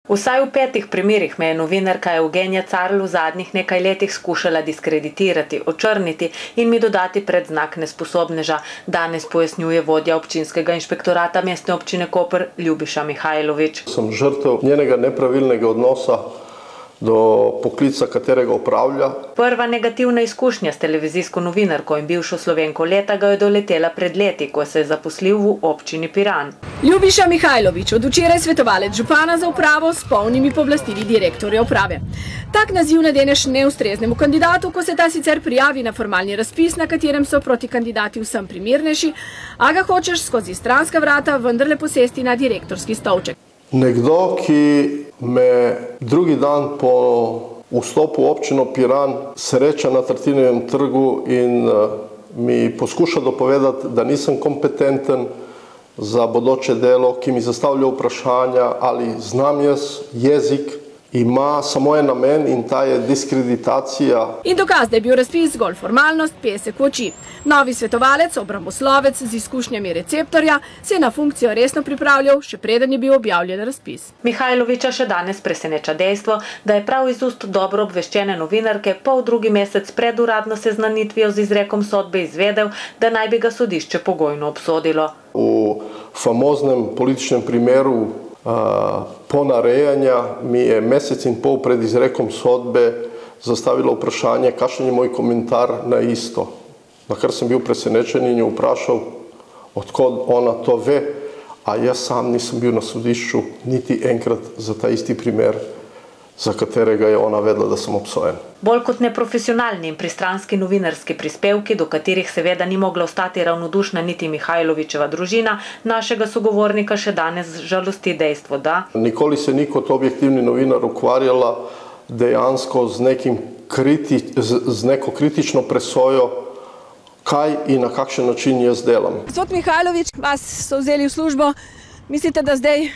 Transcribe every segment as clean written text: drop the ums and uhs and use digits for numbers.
Vsaj v 5 primerih me je novinarka Evgenija Carl v zadnjih nekaj letih skušala diskreditirati, očrniti in mi dodati predznak nesposobneža. Danes pojasnjuje vodja občinskega inšpektorata Mestne občine Koper Ljubiša Mihajlović. Sem žrtev njenega nepravilnega odnosa do poklica, katerega opravlja. Prva negativna izkušnja s televizijsko novinarko in bivšo Slovenko leta ga je doletela pred leti, ko se je zaposlil v občini Piran. Ljubiša Mihajlović, od včeraj svetovalec župana za upravo s polnimi pooblastili direktorja uprave. Tak naziv nadeneš neustreznemu kandidatu, ko se ta sicer prijavi na formalni razpis, na katerem so proti kandidati vsem primernejši, a ga hočeš skozi stranska vrata vendarle posesti na direktorski stolček. Nekdo, ki me drugi dan po vstopu v občino Piran sreča na Tartinijevem trgu in mi poskuša dopovedati, da nisem kompetenten za bodoče delo, ki mi zastavlja vprašanja, ali znam jaz jezik, ima samo en namen in ta je diskreditacija. In dokaz, da je bil razpis zgolj formalnost, pesek v oči. Novi svetovalec, obramboslovec z izkušnjami receptorja, se je na funkcijo resno pripravljal, še preden je bil objavljen razpis. Mihajlovića še danes preseneča dejstvo, da je prav iz ust dobro obveščene novinarke drugi mesec pred uradno seznanitvijo z izrekom sodbe izvedel, da naj bi ga sodišče pogojno obsodilo. V famoznem političnem primeru ponarejanja mi je mesec in pol pred izrekom sodbe zastavila vprašanje, kakšen je moj komentar na isto. Na kar sem bil presenečen in jo vprašal, odkot ona to ve, a jaz sam nisem bil na sodišču niti enkrat za ta isti primer, za katerega je ona vedela, da sem obsojen. Bolj kot neprofesionalni in pristranski novinarski prispevki, do katerih seveda ni mogla ostati ravnodušna niti Mihajlovićeva družina, našega sogovornika še danes žalosti dejstvo, da nikoli se ni kot objektivni novinar ukvarjala dejansko z neko kritično presojo, kaj in na kakšen način jaz delam. Gospod Mihajlović, vas so vzeli v službo, mislite, da zdaj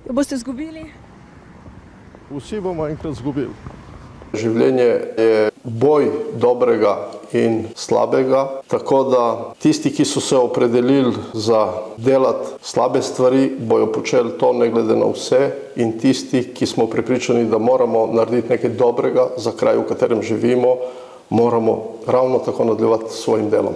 jo boste izgubili? Vsi bomo enkrat izgubili. Življenje je boj dobrega in slabega, tako da tisti, ki so se opredelili za delati slabe stvari, bojo počeli to ne glede na vse, in tisti, ki smo prepričani, da moramo narediti nekaj dobrega za kraj, v katerem živimo, moramo ravno tako nadaljevati s svojim delom.